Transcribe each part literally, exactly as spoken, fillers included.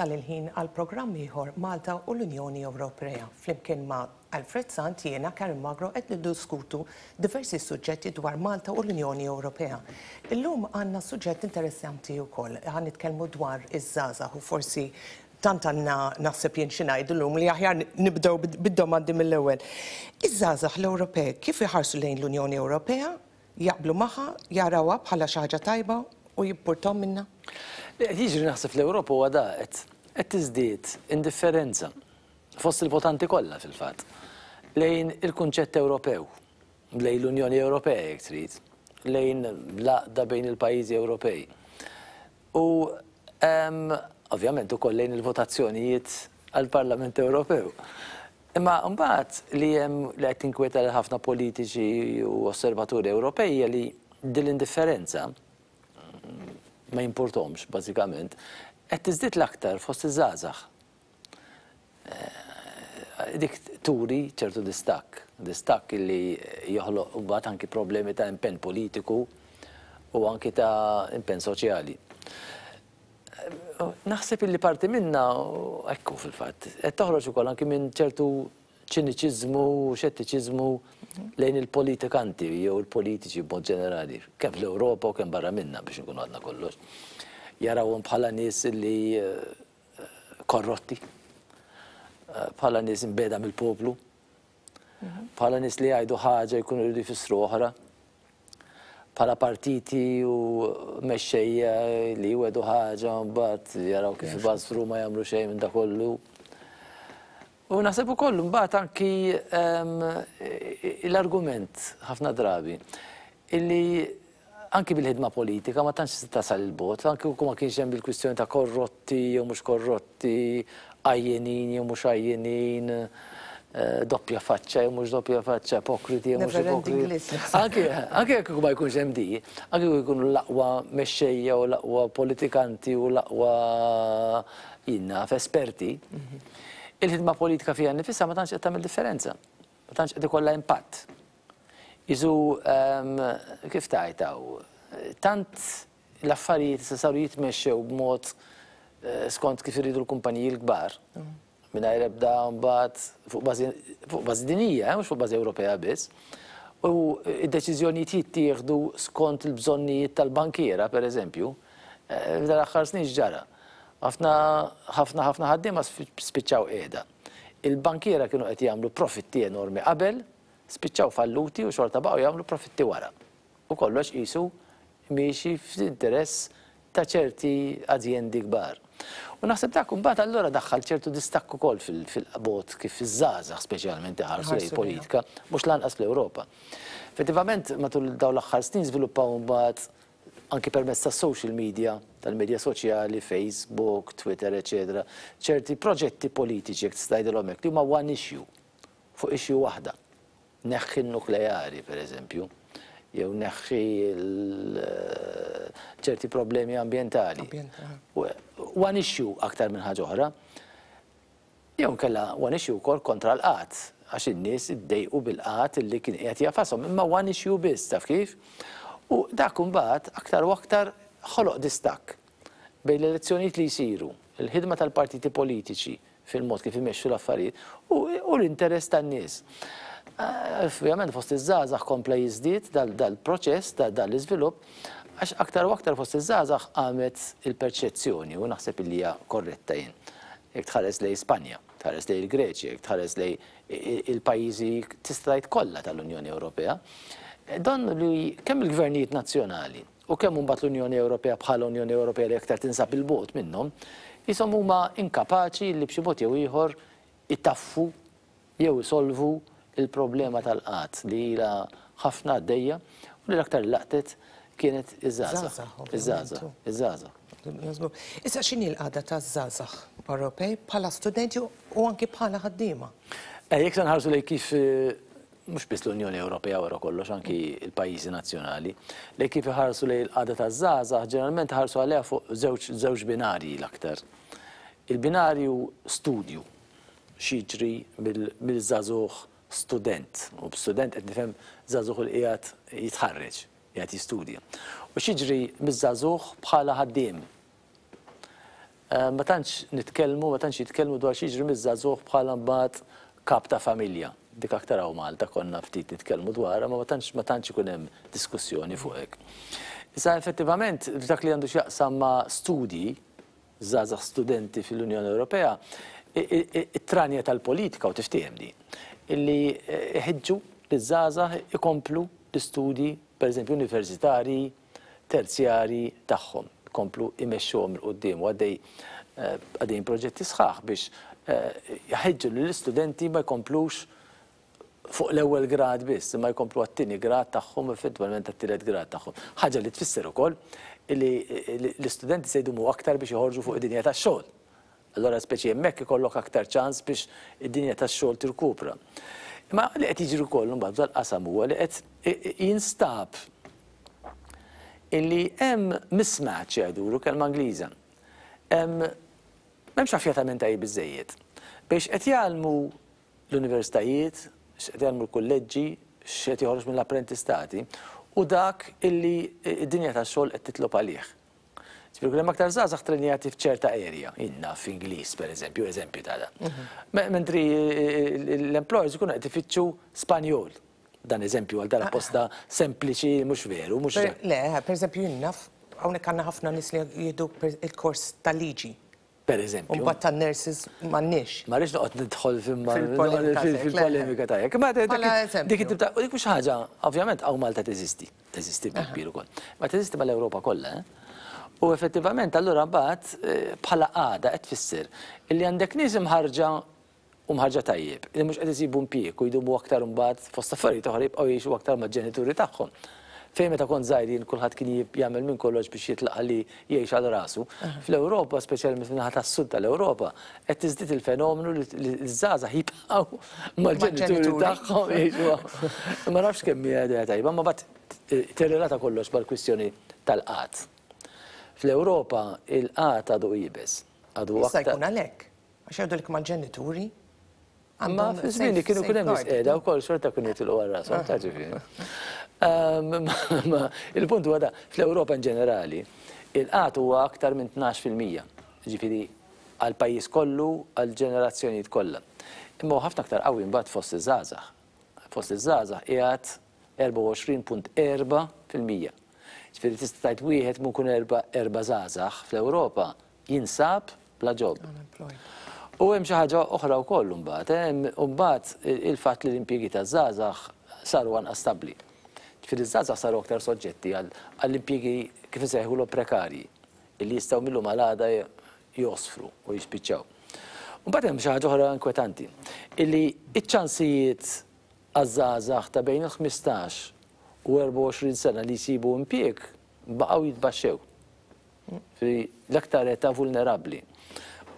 Wasal il-ħin għal programm ieħor Malta u l-Unjoni Ewropea. Flimkien ma' Alfred Sant jiena Karen Magro qed niddiskutu diversi suġġetti dwar Malta u l-Unjoni Ewropea. Illum għandna suġġett interessanti wkoll. Ħa nitkellmu dwar iż-żgħażagħ u forsi tant għandna naħseb jien xi ngħidu llum li aħjar nibdew bid-domandi mill-ewwel. Iż-żgħażagħ l-Ewropej kif iħarsu lejn l-Unjoni Ewropea, jaqblu magħha, jarawha bħala xi ħaġa tajba u jimpurtahom minnha? Li qed jiġri naħseb fl-Ewropa huwa da qed qed tiżdied indifferenza fost il-votanti kollha fil-fatt lejn il-kunċett Ewropew, lejn l-Unjoni Ewropea jekk trid, lejn l-għaqda bejn il-pajjiżi Ewropej. U em, ovvjament ukoll lejn il-votazzjonijiet għall-Parlament Ewropew. Imma mbagħad li hemm li qed tinkwieta lil ħafna politiċi u osservaturi Ewropej hija li din l-indifferenza ma jimpurtahomx bażikament, qed tiżdied l-aktar fost iż-żgħażagħ. Eh, Dik turi ċertu distakk, distakk li joħloq mbagħad anki problemi ta' impenn politiku u anki ta' impenn soċjali. Eh, Naħseb illi parti minna, ekku fil-fatt, qed toħroġ ukoll anki minn ċertu ċiniċiżmu, xettiċiżmu lejn il-politikanti jew il-politiċi b'mod ġenerali, kemm fl-Ewropa u kemm barra minna biex nkunu għadna kollox. Jarawhom bħala nies li eh, korrotti, eh, bħala nies imbegħda mill-poplu, bħala nies li jgħidu ħaġa jkunu jridu jfissru oħra, bħala partiti u mexxejja li jwegħdu ħaġa mbagħad jaraw kif ibażfru ma jagħmlu xejn minn da kollu. U naħseb ukoll mbagħad anki ehm, l-argument ħafna drabi illi anki bil-ħidma politika ma tantx tasal il-bogħod, anki kieku ma kienx hemm bil-kwistjoni ta' korrotti jew mhux korrotti, għajjenin jew mhux għajjenin, eh, doppja faċċa jew mhux doppja faċċa, ipokriti jew mhux Never-ending ipokriti. list. Anki anki jekk ma jkunx hemm di, anki jekk jkunu l-aqwa mexxejja u l-aqwa politikanti u l-aqwa jinna esperti, il-ħidma politika fiha nifisha ma tantx qed tagħmel differenza. Ma tantx qed ikollha impatt. Iżu, ehm, kif tajtaw, tant l-affarijiet se saru jitmexxew b'mod eh, skont kif iridu l-kumpaniji l-kbar. Mingħajr ebda mbagħad fuq bażi fuq bażi dinjija, eh, mhux fuq bażi Ewropea biss. U id-deċiżjonijiet jittieħdu skont il-bżonnijiet tal-bankiera, per eżempju, eh, f'dan l-aħħar snin ġara. Ħafna ħafna ħafna ħaddiema spiċċaw qiegħda. Il-bankiera kienu qed jagħmlu profitti enormi qabel, spiċċaw falluti u xorta baqgħu jagħmlu profitti wara. U kollox qisu miexi f'interess ta' ċerti azjendi kbar. U naħseb dak mbagħad allura daħħal ċertu distakk ukoll fil-mod kif iż-żgħażagħ speċjalment iħarsu lejn Iħarsu politika, mhux lanqas fl-Ewropa. Effettivament matul dawn l-aħħar snin żviluppaw mbagħad anki permezz ta' social media, tal-medja soċjali, Facebook, Twitter, eccetera, ċerti proġetti politiċi jekk tista' tgħidilhom hekk li huma one issue, fuq issue waħda. Neħħi n-nukleari, per eżempju, jew neħħi l- ċerti problemi ambientali. Ambientali. U- One issue aktar minn ħaġa oħra. Jew nkella one issue wkoll kontra l-qgħad, għax in-nies iddejqu bil-qgħad illi kien qiegħed jagħfashom, imma one issue biss, taf kif? U dak imbagħad aktar u aktar ħoloq distakk bejn l-elezzjonijiet li jsiru, il-ħidma tal-partiti politiċi fil-mod kif imexxu l-affarijiet u, u l-interess tan-nies. Eh, Ovvjament fost iż-żgħażagħ kompla jiżdied dal-proċess, dal-iżvilupp, għax aktar u aktar fost iż-żgħażagħ qamet il-perċezzjoni u naħseb li hija korretta jien. Jekk tħares lejn Spanja, tħares lejn il-Greċja, jekk tħares lejn il-pajjiżi tista' tgħid kollha tal-Unjoni Ewropea, don li kemm il-gvernijiet nazzjonali u kemm imbagħad l-Unjoni Ewropea bħala Unjoni Ewropea li aktar tinsab il-bogħod minnhom, jisom huma inkapaċi li b'xi mod jew ieħor itaffu jew isolvu il-problema tal-qgħad li ilha ħafna għaddejja u li l-aktar laqtet kienet iż-żgħażagħ. Żgħażagħ, ovvjament. Iż-żgħażagħ, iż-żgħażagħ. Issa x'inhi l-qagħda taż-żgħażagħ Ewropej bħala studenti u anki bħala ħaddiema? Eh, Jekk se nħarsu lejn kif eh, mhux biss l-Unjoni Ewropea wara kollox anki il-pajjiżi nazzjonali, lejn kif iħarsu lejn il-qagħda taż-żgħażagħ ġeneralment ħarsu għaliha fuq żewġ żewġ binarji l-aktar. Il-binarju studju x'jiġri mill-żagħżugħ student, u b'student qed nifhem żagħżugħ li qiegħed jitħarreġ, qiegħed jistudja. U x'jiġri miż-żagħżugħ bħala ħaddiem. Ma tantx nitkellmu, ma tantx jitkellmu dwar x'jiġri miż-żagħżugħ bħala mbagħad kap ta' familja. Dik aktar hawn Malta konna ftit nitkellmu dwarha, ma tantx ma tantx ikun hemm diskussjoni fuq hekk. Issa effettivament f'dak li għandu x'jaqsam ma' studji, żgħażagħ studenti fil-Unjoni Ewropea, it-tranja tal-politika u tiftiehem di, illi iħeġġu liż-żgħażagħ ikomplu l-istudji, pereżempju universitarji, terzjarji tagħhom, ikomplu imexxuhom 'il quddiem u għaddej għaddejjin proġetti sħaħ biex jħeġġu lill-istudenti ma jkomplux fuq l-ewwel grad biss, imma jkomplu għat-tieni grad tagħhom u eventwalment għat-tielet grad tagħhom. Ħaġa li tfisser ukoll li l-istudenti se jdumu aktar biex joħorġu fuq id-dinja tax-xogħol. Allora speċi hemmhekk ikollok aktar ċans biex id-dinja tax-xogħol tirkupra. Imma li qed jiġri wkoll imbagħad f'dal-qasam huwa li qed jinstab illi hemm mismatch jgħidulu kelma Ingliża. Hemm m'hemmx affjatament tajjeb biżżejjed biex qed jgħallmu l-universitajiet, x'qed jgħallmu l-kulleġġi, x'qed joħroġ mill-apprentistati u dak illi d-dinja tax-xogħol qed titlob għalih. Ġifieri hemm aktar żgħażagħ trenjati f'ċerta area, inna f'Ingliż pereżempju, eżempju ta' dan. Mentri l-employers ikunu qed ifittxu Spanjol. Dan eżempju għal dara posta sempliċi mhux veru, mhux. Le, pereżempju jien naf hawnhekk għandna ħafna nies li jieħdu il-kors tal-liġi. Per eżempju. U mbagħad tan-nurses m'għandniex. Ma rridx noqgħod nidħol fil-polemika tajjeb. Ma dik it-tip ta' dik mhux ħaġa, ovvjament hawn Malta teżisti, teżisti bil-kbir ukoll. Ma teżisti mal-Ewropa kollha, eh? U effettivament allura mbagħad bħala qagħda qed tfisser illi għandek nies imħarġa u mħarġa tajjeb, li mhux qed isibu impjieg u jdumu aktar imbagħad fost affarijiet oħra jibqgħu jgħixu aktar mal-ġenituri tagħhom. Fejn meta kont żgħir jien kulħadd kien jagħmel minn kollox biex jitlaq li jgħix għal rasu. Fl-Ewropa, speċjalment fin-naħa tas-sud tal-Ewropa, qed tiżdied il-fenomenu li ż-żgħażagħ jibqgħu mal-ġenituri tagħhom jgħixu. Ma nafx kemm hija idea tajba, ma mbagħad tirrelata kollox mal-kwistjoni tal-qgħad. Fl-Ewropa il-qgħad għadu iebes. Għadu Issa jkun għalhekk, għax jgħidulek mal-ġenituri. Ma fi żmien li kienu kun hemm nies qiegħda wkoll xorta kienu jitilqu għal rashom, ta' ġifieri. Il-punt huwa da, fl-Ewropa in ġenerali, il-qgħad huwa aktar minn tnax fil-mija, ġifieri għall-pajjiż kollu, għall-ġenerazzjonijiet kollha. Imma huwa ħafna aktar qawwi mbagħad fost iż-żgħażagħ. Fost iż-żgħażagħ qiegħed erbgħa u għoxrin punt erba' fil-mija. Ġifieri tista' tgħid wieħed minn kull erba' erba' żgħażagħ fl-Ewropa jinsab bla ġob. U hemm xi ħaġa oħra wkoll imbagħad, hemm imbagħad il-fatt li l-impjiegi taż-żgħażagħ saru anqas stabbli. Ġifieri ż-żgħażagħ saru aktar soġġetti għall-impjiegi kif insejħulhom prekarji, illi jistgħu millum għal għada josfru u jispiċċaw. Mbagħad hemm xi ħaġa oħra inkwetanti, illi iċ-ċansijiet għaż-żgħażagħ ta' bejn il-ħmistax u erbgħa u għoxrin sena li jsibu impjieg baqgħu jitbaxxew. Ġifieri l-aktar età vulnerabbli.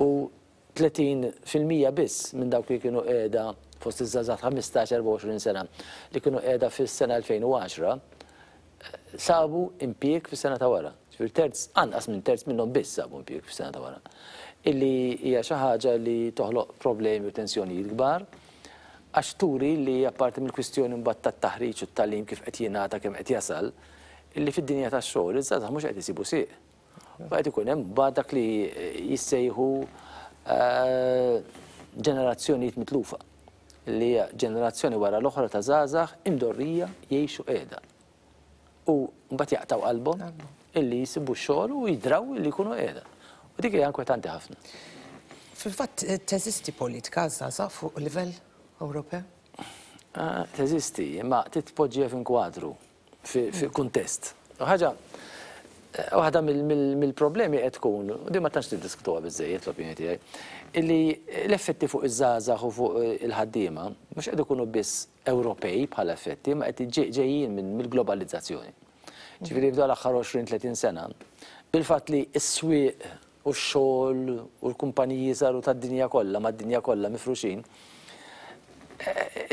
U tletin fil-mija biss minn dawk li kienu qiegħda fost iż-żgħażagħ ta' ħmistax erbgħa u għoxrin sena li kienu qiegħda fis-sena elfejn u għaxra sabu impjieg fis-sena ta' wara. Ġifieri terz, anqas minn terz minnhom biss sabu impjieg fis-sena ta' wara. Illi hija xi ħaġa li toħloq problemi u tensjonijiet kbar, għax turi li apparti mill-kwistjoni mbagħad tat-taħriġ u t-tagħlim kif qed jingħata kemm qed jasal, illi fid-dinja tax-xogħol iż-żgħażagħ mhux qed isibu sieq. U qed ikun hemm mbagħad dak li jissejħu ġenerazzjonijiet mitlufa, li hija ġenerazzjoni wara l-oħra ta' żgħażagħ imdorrija jgħixu qiegħda. U mbagħad jaqtaw qalbhom illi jsibu x-xogħol u jidraw illi jkunu qiegħda. U dik hija inkwetanti ħafna. Fil-fatt teżisti politika żgħażagħ fuq livell Ewropew? Teżisti, imma titpoġġiha f'inkwadru, fi kuntest. Ħaġa waħda mill-problemi qed tkun, u din ma tantx niddiskutuha biżżejjed l-opinjoni tiegħi, illi l-effetti fuq iż-żgħażagħ u fuq il-ħaddiema mhux qed ikunu biss Ewropej bħala effetti, ma qed ġejjin mill-globalizzazzjoni. Ġifieri f'dan l-aħħar għoxrin tletin sena, bil-fatt li s-swieq u x-xogħol u l-kumpaniji saru tad-dinja kollha, mad-dinja kollha mifruxin,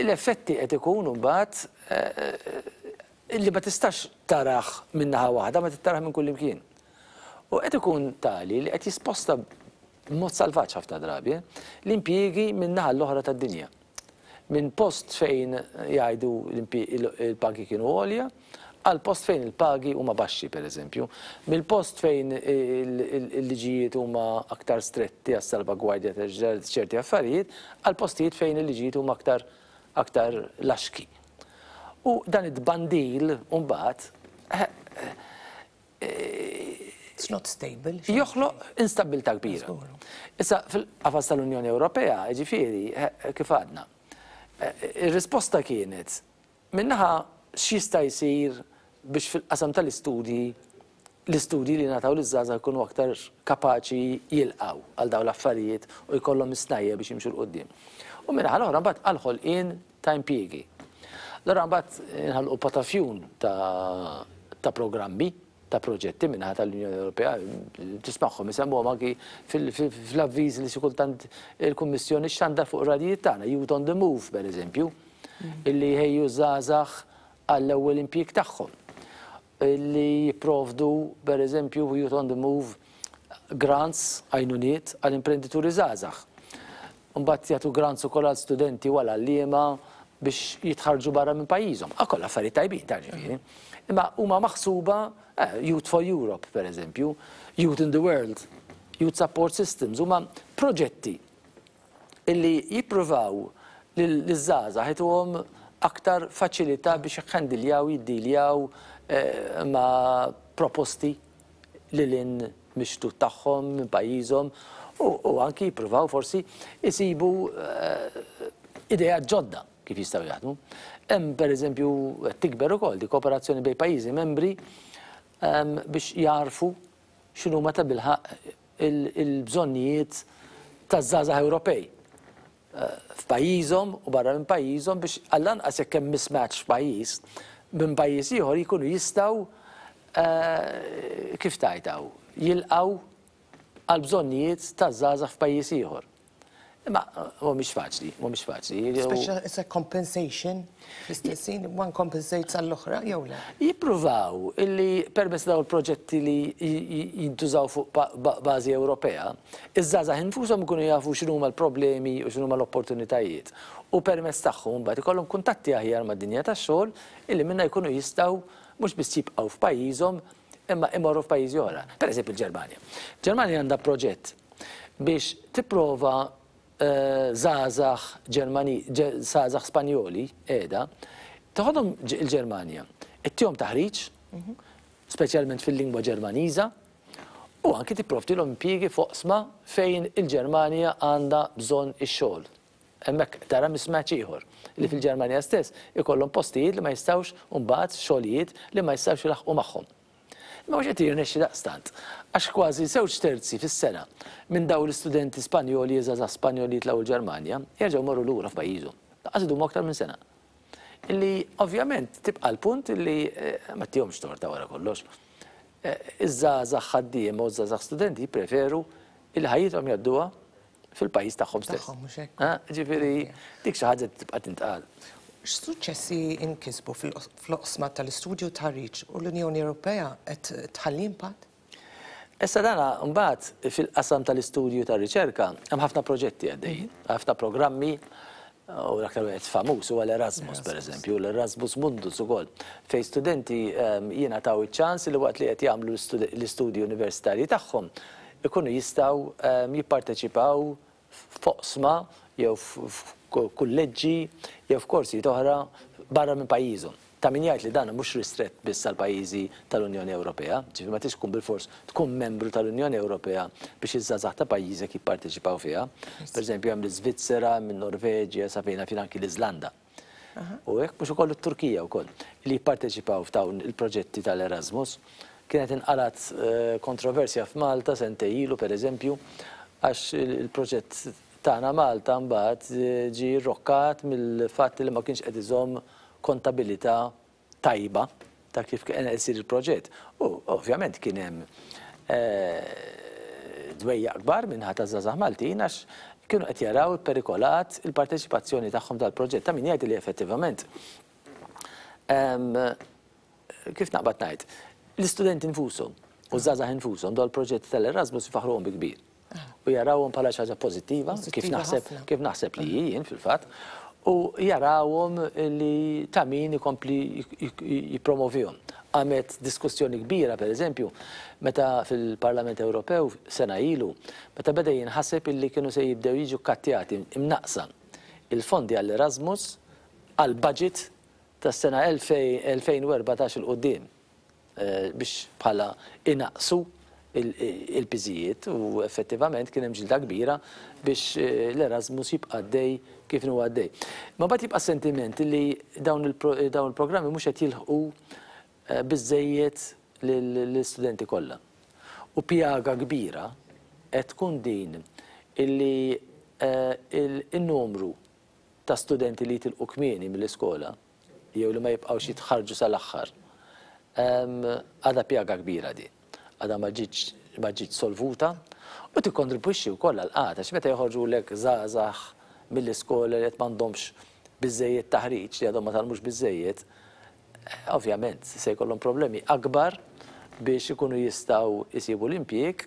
l-effetti qed ikunu mbagħad illi ma tistax taraħ minn naħa waħda, ma titaraħ minn kull imkien. U qed ikun tali li qed jisposta b'mod salvaġġ ħafna drabi l-impjiegi minn naħa l-oħra tad-dinja. Minn post fejn jgħidu il-pagi kienu għolja, għal post fejn il-pagi huma baxxi, per eżempju, mill-post fejn il-liġijiet huma aktar stretti għas salvagwardja ta' ċerti affarijiet, għal postijiet fejn il-liġijiet huma aktar aktar laxki. U dan it-tbandil mbagħad It's not stable. Joħloq instabilità kbira. Issa, fil-qafas tal-Unjoni Ewropea, ġifieri, kif għadna, ir-risposta kienet minn naħa x'jista' jsir biex fil-qasam tal-istudji l-istudji li ngħataw liż-żgħażagħ jkunu aktar kapaċi jilqgħu għal dawn l-affarijiet u jkollhom is-snajja biex jimxu 'l quddiem. U min-naħa l-oħra mbagħad għall-ħolqien ta' impjiegi. Allura mbagħad inħalqu patafjun ta' ta' programmi, ta' proġetti min-naħa tal-Unjoni Ewropea, tismagħhom isemmuhom anki fl-avviż li xi kultant il-Kummissjoni xxandar fuq ir-radijiet tagħna, Youth on the Move, per eżempju, illi jħejju żgħażagħ għall-ewwel impjieg tagħhom. Illi jipprovdu, per eżempju, Youth on the Move grants, għajnuniet għall imprendituri żgħażagħ. Mbagħad jagħtu grants ukoll għal studenti u għal għalliema biex jitħarġu barra minn pajjiżhom. Ah, kollha affarijiet tajbin ta' ġifieri. Imma huma maħsuba eh, Youth for Europe, per eżempju, Youth in the World, Youth Support Systems, huma proġetti illi jippruvaw liż-żgħażagħ jtuhom aktar faċilità biex jħandiljaw, jiddiljaw eh, ma' proposti lil hinn mix-xtut tagħhom, minn pajjiżhom, u, u anki jippruvaw forsi jisibu eh, idea ġodda kif jistgħu jaħdmu. Hemm, pereżempju, tikber ukoll di kooperazzjoni bejn pajjiżi membri em, biex jarfu x'inhuma ta' bilħaq il-bżonnijiet taż-żgħażagħ Ewropej eh, f'pajjiżhom u barra minn pajjiżhom, biex għall-anqas jekk hemm mismatch f'pajjiż minn pajjiż ieħor jkunu jistgħu eh, kif tajtaw jilqgħu għal bżonnijiet taż-żgħażagħ f'pajjiż ieħor. Imma mhumiex faċli, mhumiex faċli. Speċa it's a compensation fl-istessin, one compensates għall-oħra, jew le? Jippruvaw illi permezz daw il-proġetti li jintużaw fuq bażi Ewropea, iż-żgħażagħ infushom ikunu jafu x'inhuma l-problemi u x'inhuma l-opportunitajiet. U permezz tagħhom mbagħad ikollhom kuntatti aħjar mad-dinja tax-xogħol illi minna jkunu jistgħu mhux biss jibqgħu f'pajjiżhom, imma imorru f'pajjiżi oħra. Per eżempju, il-Ġermanja. Ġermanja għandha proġett biex tipprova żgħażagħ Ġermani, żgħażagħ Spanjoli qiegħda, toħodhom il-Ġermanja, ittihom taħriġ, speċjalment fil-lingwa Ġermaniża, u anki tipprovdilhom impjiegi f'oqsma fejn il-Ġermanja għandha bżonn ix-xogħol. Hemmhekk tara mismatch ieħor li fil-Ġermanja stess ikollhom postijiet li ma jistgħux, mbagħad xogħlijiet li ma jistgħux ilaħqu magħhom. Imma mhux qed jirnexxi daqstant, għax kważi żewġ terzi fis-sena minn dawn l-istudenti Spanjoli, żgħażagħ Spanjoli jitlgħu l-Ġermanja, jerġgħu morru lura f'pajjiżhom. Lanqas idumu aktar minn sena. Illi ovvjament tibqa' l-punt illi eh, ma tihomx torta wara kollox. Eh, iż-żgħażagħ ħaddiema u ż-żgħażagħ studenti jippreferu il ħajjithom jgħadduha fil-pajjiż tagħhom stess. Tagħhom, mhux hekk? Ah, ġifieri dik xi ħaġa tibqa' tintqal. X'suċċessi inkisbu fl-oqsma tal-istudju, taħriġ, u l-Unjoni Ewropea qed tħalli impatt? Issa, dana mbagħad fil-qasam tal-istudju, tar-riċerka hemm ħafna proġetti għaddejjin, ħafna programmi, u l-aktar wieħed famuż huwa l-Erasmus, per eżempju, l-Erasmus Mundus ukoll, fejn studenti ehm, jingħataw iċ-ċans li waqt li qed jagħmlu l-istudji universitarji tagħhom ikunu jistgħu ehm, jipparteċipaw f'oqsma jew f'kulleġġi jew f'korsijiet oħra barra minn pajjiżhom. Ta' min jgħid li dan mhux ristrett biss għal pajjiżi tal-Unjoni Ewropea, ġifieri ma tix tkun bilfors tkun membru tal-Unjoni Ewropea biex iż-żgħażagħ ta' pajjiżek jipparteċipaw fiha. Per eżempju, hemm l-Iżvizzera, minn Norveġja, sa fejn fin anki l-Iżlanda. U hekk mhux ukoll it-Turkija wkoll li jipparteċipaw f'dawn il-proġetti tal-Erasmus. Kienet inqalat eh, kontroversja f'Malta sentejn ilu, per eżempju, għax il-proġett tagħna Malta mbagħad eh, ġi rokkat mill-fatt li ma kienx qed iżomm kontabilità tajba ta' kif kien qed isir il-proġett. U ovvjament kien hemm eh, dwejja kbar min-naħa ta' żgħażagħ Maltin għax kienu qed jaraw perikolat il-parteċipazzjoni tagħhom tal-proġett. Ta' min jgħid li effettivament, em, kif naqbad ngħid, l-istudenti infushom u żgħażagħ infushom dwar il-proġetti tal-Erasmus ifaħruhom bi kbir. U jarawhom bħala xi ħaġa pożittiva, kif Pożittiva naħseb ħafna. kif naħseb li jien fil-fatt, u jarawhom li ta' min ikompli jippromovihom. Għamet diskussjoni kbira, per eżempju, meta fil-Parlament Ewropew sena ilu, meta beda jinħaseb illi kienu se jibdew jiġu kattjati, imnaqsa il-fondi għall-Erasmus għall-budget tas-sena elfejn u erbatax 'il quddiem biex bħala inaqsu il-piżijiet, u effettivament kien hemm ġilda kbira biex l-Erasmus jibqa' għaddej kif inhu għaddej. Ma mbagħad jibqa' sentiment li dawn il-programmi mhux qed jilħqu biżejjed lill-istudenti kollha. U pjaga kbira qed tkun din illi il-numru ta' studenti li jitilqu kmieni mill-iskola jew li ma jibqgħux jitħarġu sal-aħħar għadha pjaga kbira din. Għadha ma ġietx solvuta u tikkontribwixxi wkoll għall-qgħad, għax meta joħorġulek żgħażagħ mill-iskola li qed m'għandhomx biżejjed taħriġ, li għadhom ma tgħallmux biżejjed, ovvjament se jkollhom problemi akbar biex ikunu jistgħu jsibu l-impjieg,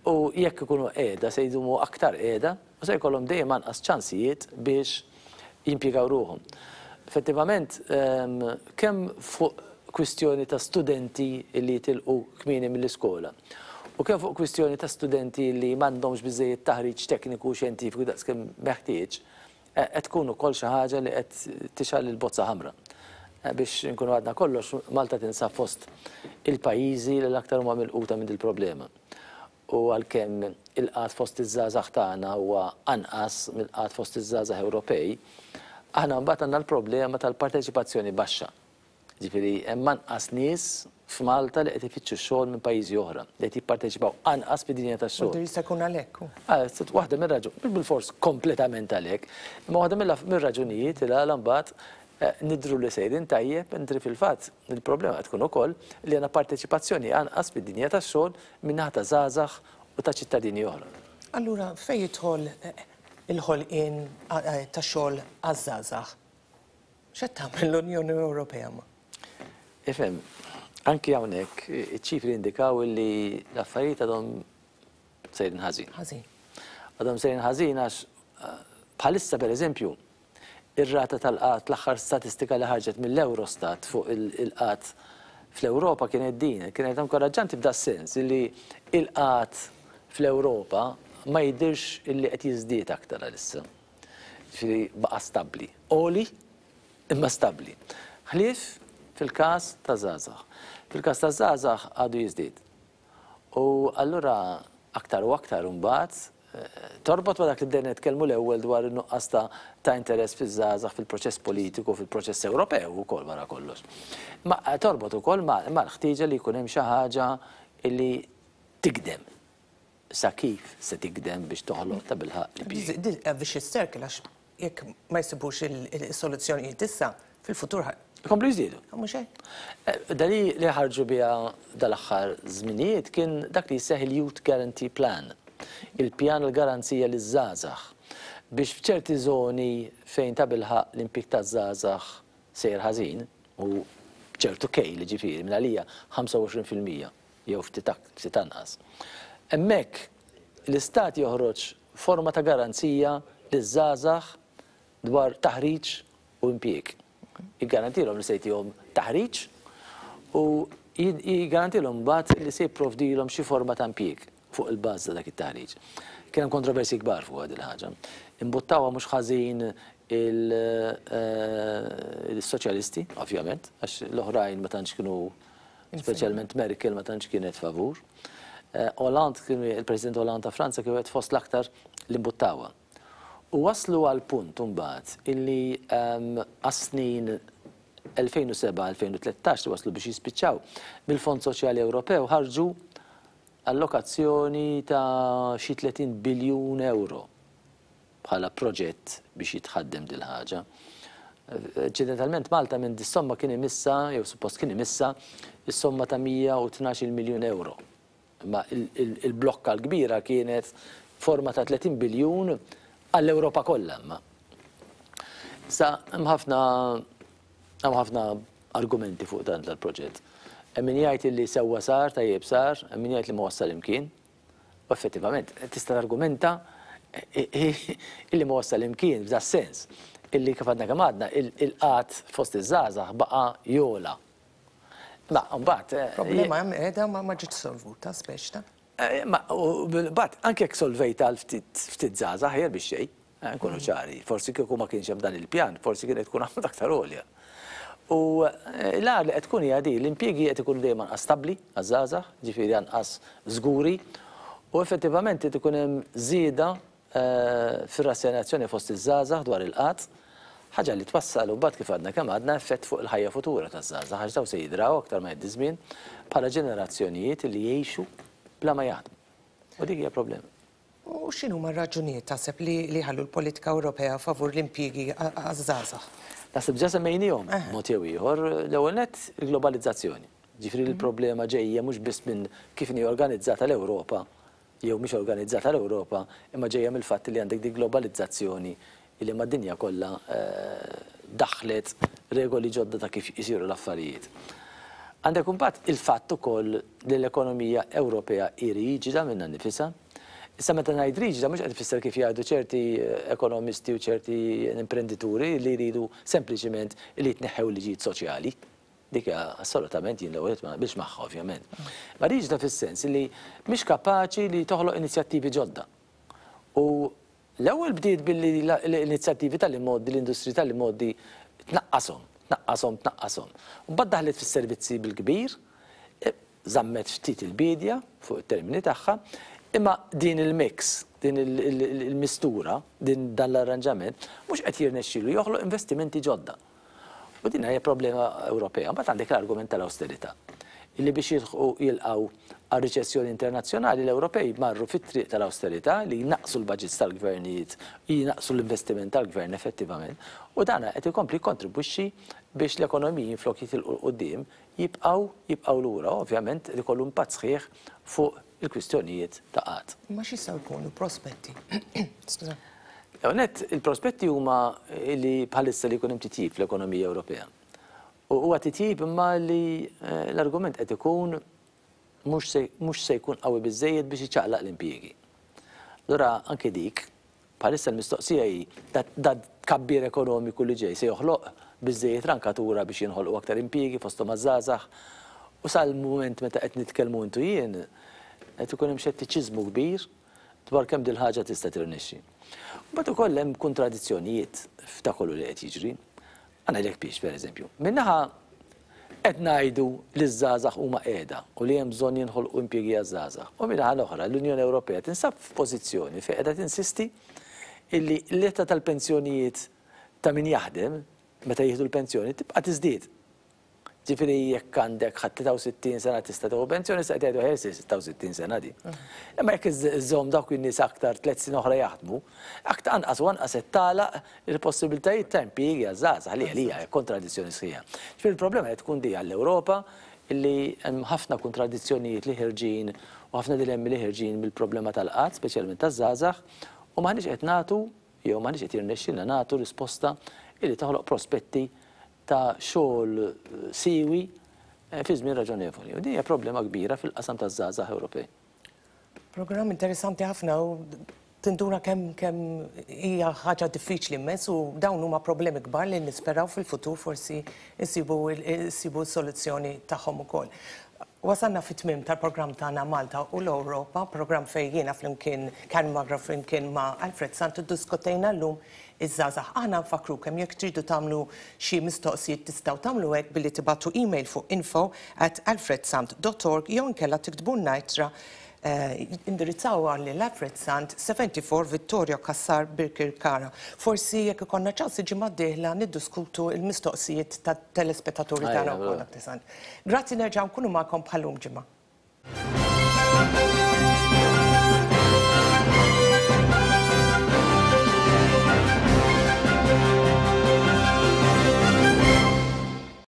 u jekk ikunu qiegħda se jdumu aktar qiegħda u se jkollhom dejjem anqas ċansijiet biex jimpjegaw ruħhom. Effettivament, kemm fuq kwistjoni ta' studenti li jitilqu kmieni mill-iskola u kemm fuq kwistjoni ta' studenti li m'għandhomx biżejjed taħriġ tekniku u xjentifiku daqskemm meħtieġ, qed tkun ukoll xi ħaġa li qed tixgħal il-bozza ħamra. Biex nkunu għadna kollox, Malta tinsab fost il-pajjiżi li l-aktar huma milquta minn il-problema. U għalkemm il-qgħad fost iż-żgħażagħ tagħna huwa anqas mill-qgħad fost iż-żgħażagħ Ewropej, aħna mbagħad għandna l-problema tal-parteċipazzjoni baxxa. Ġifieri hemm anqas nies f'Malta li qed ifittxu xogħol minn pajjiżi oħra, li qed jipparteċipaw anqas fid-dinja tax-xogħol. U jista' jkun għalhekk. Waħda mir-raġun, mhux bilfors kompletament għalhekk, imma waħda mir-raġunijiet li għala mbagħad nidru li sejrin tajjeb, mentri fil-fatt il-problema qed tkun ukoll li għandna parteċipazzjoni anqas fid-dinja tax-xogħol min-naħa ta' żgħażagħ u ta' ċittadini oħra. Allura fejn jidħol il-ħolqien ta' xogħol għaż-żgħażagħ? X'qed tagħmel l-Unjoni Ewropea ma? Ifhem, anki hawnhekk iċ-ċifri indikaw li l-affarijiet għadhom sejrin ħażin. Ħażin. Għadhom sejrin ħażin għax bħalissa pereżempju ir-rata tal-qgħad, l-aħħar statistika li ħarġet mill-Eurostat fuq il-qgħad fl-Ewropa kienet din, kienet inkoraġġanti f'da sens illi il-qgħad fl-Ewropa ma jidhirx illi qed jiżdied aktar għalissa. Ġifieri baqa' stabbli. Oli imma stabbli. Ħlief fil-każ ta' żgħażagħ. Fil-każ ta' żgħażagħ għadu jiżdied. U allura aktar u aktar imbagħad torbot ma dak li bdejna nitkellmu l-ewwel dwar in-nuqqas ta' interess fiż-żgħażagħ fil-proċess politiku, fil-proċess Ewropew ukoll wara kollox. Ma torbot ukoll mal-ħtieġa li jkun hemm xi ħaġa li tikdem. Sa kif se tikdem biex toħloq ta' bilħaq li. Vicious circle, għax jekk ma jsibux il-soluzzjonijiet issa fil-futur Komplu jiżdiedu. Mhux hekk. Dali li ħarġu biha dal-aħħar żminijiet kien dak li jseħħ il-Youth Guarantee Plan, il-pjan l-garanzija liż-żgħażagħ biex f'ċerti żoni fejn ta' bilħaq l-impjieg taż-żgħażagħ sejr ħażin u ċertu kejl ġifieri minn għalija ħamsa u għoxrin fil-mija jew ftit ftit anqas. Hemmhekk l-istat joħroġ forma ta' garanzija liż-żgħażagħ dwar taħriġ u impjieg. Jiggarantilhom li se jtihom taħriġ u jiggarantilhom mbagħad li se jipprovdilhom xi forma ta' impjieg fuq il-bażi ta' dak it-taħriġ. Kien hemm kontroversi kbar fuq din il-ħaġa. Imbuttawha mhux ħażin il-soċjalisti, ovvjament, għax l-oħrajn ma tantx kienu, speċjalment Merkel ma tantx kienet favur. Hollande, il-President Hollande ta' Franza kien wieħed fost l-aktar li mbuttawha. U waslu għal punt imbagħad illi għas-snin elfejn u seba' elfejn u tlettax li waslu biex jispiċċaw mill-Fond Soċjali Ewropew ħarġu allokazzjoni ta' xi tletin biljun euro bħala proġett biex jitħaddem dil ħaġa. Ċidentalment Malta minn dis-somma kien imissa, jew suppost kien imissa, is-somma ta' mija u tnax-il miljun euro. Ma il-blokka l-kbira kienet forma ta' tletin biljun għall-Ewropa kollha imma. Sa hemm ħafna, hemm ħafna argumenti fuq dan tal-proġett. Hemm min jgħid li sewwa sar, tajjeb sar, hemm min jgħid li ma wassal imkien. U effettivament tista' targumenta illi ma wassal imkien f'da sens illi kif għadna kemm għadna il-qgħad fost iż-żgħażagħ baqa' jola. Ma mbagħad eh, Problema hemm qiegħda ma ma ġietx solvuta speċi ta'. Eh, Ma u mbagħad anke jekk solvejta għal ftit ftit żgħażagħ, ħjer biex xejn, eh, nkunu ċari, forsi kieku ma kienx hemm dan il-pjan, forsi kienet tkun għamlet aktar għolja. U eh, l-għar li qed tkun hija di, l-impjiegi qed ikunu dejjem anqas stabbli għaż-żgħażagħ, ġifieri anqas żguri, u effettivament qed ikun hemm żieda eh, fir-rassenjazzjoni fost iż-żgħażagħ dwar il-qgħad, ħaġa li twassal u mbagħad, kif għadna kemm għadna, effett fuq il-ħajja futura taż-żgħażagħ, għax daw se jidraw aktar ma jgħaddi żmien bħala ġenerazzjonijiet li jgħixu bla ma jaħdmu. U dik hija problema. U x'inhuma r-raġunijiet taħseb li li ħallu l-politika Ewropea favur l-impjiegi għaż-żgħażagħ? Naħseb ġa semmejnihom mod jew ieħor. L-ewwel nett il-globalizzazzjoni. Ġifieri l-problema ġejja mhux biss minn kif inhi organizzata l-Ewropa jew mhix organizzata l-Ewropa, imma ġejja mill-fatt li għandek di globalizzazzjoni li mad-dinja kollha eh, daħlet regoli ġodda ta' kif isiru l-affarijiet. Għandek imbagħad il-fatt ukoll li l-ekonomija Ewropea hi riġida minnha nifisha. Issa, meta ngħid riġida, mhux qed ifisser kif jgħidu ċerti eh, ekonomisti u ċerti imprenditori li jridu sempliċiment li jitneħħew liġijiet soċjali. Dik hija assolutament, jien l-ewwel ma biex magħha, ovvjament. Ma riġida fis-sens li mhix kapaċi li toħloq inizjattivi ġodda. U l-ewwel bdiet billi l-inizjattivi tal-immoddi, l-industri tal-immoddi tnaqqashom, tnaqqashom, tnaqqashom. U mbagħad daħlet fis-servizzi bil-kbir, eh, żammet ftit il-bidja fuq it-termini tagħha, imma din il-mix, din il-mistura, din dan l-arranġament, mhux qed jirnexxilu joħloq investimenti ġodda. U din hija problema Ewropea. Mbagħad għandek l-argument tal-austerità, illi biex jilħqu jilqgħu għal riċessjoni internazzjonali, l-Ewropej marru fit-triq tal-austerità li jnaqsu l-budgets tal-gvernijiet, jnaqsu l-investiment tal-gvern effettivament. U dana qed ikompli kontribwixxi biex l-ekonomiji, flok jitilqu quddiem, jibqgħu jibqgħu lura, ovvjament li kollu impatt sħiħ fuq il-kwistjonijiet ta' qgħad. Ma x'jistgħu jkunu prospetti? Skuża. Net, il-prospetti huma li bħalissa li jkun hemm titjib fl-ekonomija Ewropea. U huwa titjib imma li eh, l-argument qed ikun mhux se jkun qawwi biżejjed biex iċaqlaq l-impjiegi. Allura anke dik, bħalissa l-mistoqsija hi da tkabbir ekonomiku li ġej se joħloq biżejjed rankatura biex jinħolqu aktar impjiegi fosthom għaż-żgħażagħ? U sal-mument meta qed nitkellmu intu jien, qed ikun hemm xettiċiżmu kbir dwar kemm dil ħaġa tista' tirnexxi. Mbagħad ukoll hemm kontradizzjonijiet f'ta' kollu li qed jiġri. Għandek biex, pereżempju, minnaħa qed ngħidu li ż-żgħażagħ huma qiegħda u li hemm bżonn jinħolqu impjiegi għaż-żgħażagħ. U minnaħa l-oħra l-Unjoni Ewropea tinsab f'pożizzjoni fejn qiegħda tinsisti illi l-età tal-pensjonijiet ta' min jaħdem meta jieħdu l-pensjoni tibqa' tiżdied. Ġifieri jekk għandek ħadd tlieta u sittin sena tista' tieħu pensjoni, se tgħidu ħersi sitta u sittin sena di. Imma jekk iżżomm dawk in-nies aktar tliet snin oħra jaħdmu, aktar anqas u anqas qed tagħlaq il-possibilitajiet ta' impjiegi għaż-żgħażagħ, li għalija hija kontradizzjoni sħiħa. Ġifieri il-problema qed tkun di għall-Ewropa, illi hemm ħafna kontradizzjonijiet li ħerġin u ħafna dilemmi li ħerġin mill-problema tal-qgħad, speċjalment taż-żgħażagħ, u m'aħniex qed nagħtu jew m'aħniex qed jirnexxilna nagħtu risposta illi toħloq prospetti ta' xogħol siwi eh, fi żmien raġonevoli. U din hija problema kbira fil-qasam taż-żgħażagħ Ewropej. Programm interessanti ħafna u tinduna kemm kemm hija ħaġa diffiċli immens u dawn huma problemi kbar li nisperaw fil-futur forsi nsibu nsibu soluzzjoni tagħhom ukoll. Wasalna fit-tmim tal-programm tagħna Malta u l-Ewropa, programm fejn jiena flimkien Karen Magra flimkien ma' Alfred Sant iddiskutejna llum iż-żgħażagħ. Aħna nfakru kemm jekk tridu tagħmlu xi mistoqsijiet, tistgħu tagħmlu hekk billi tibagħtu email fuq info at alfredsant dot org jew inkella tiktbulna ittra, eh, indirizzaw lil Alfred Sant, sebgħa u sebgħin Vittorio Cassar, Birkirkara. Forsi jekk ikollna ċans, ġimgħa d-dieħla niddiskutu il-mistoqsijiet tat-telespettaturi tagħna wkoll. Grazzi, nerġa' nkunu magħkom bħal-lum ġimgħa.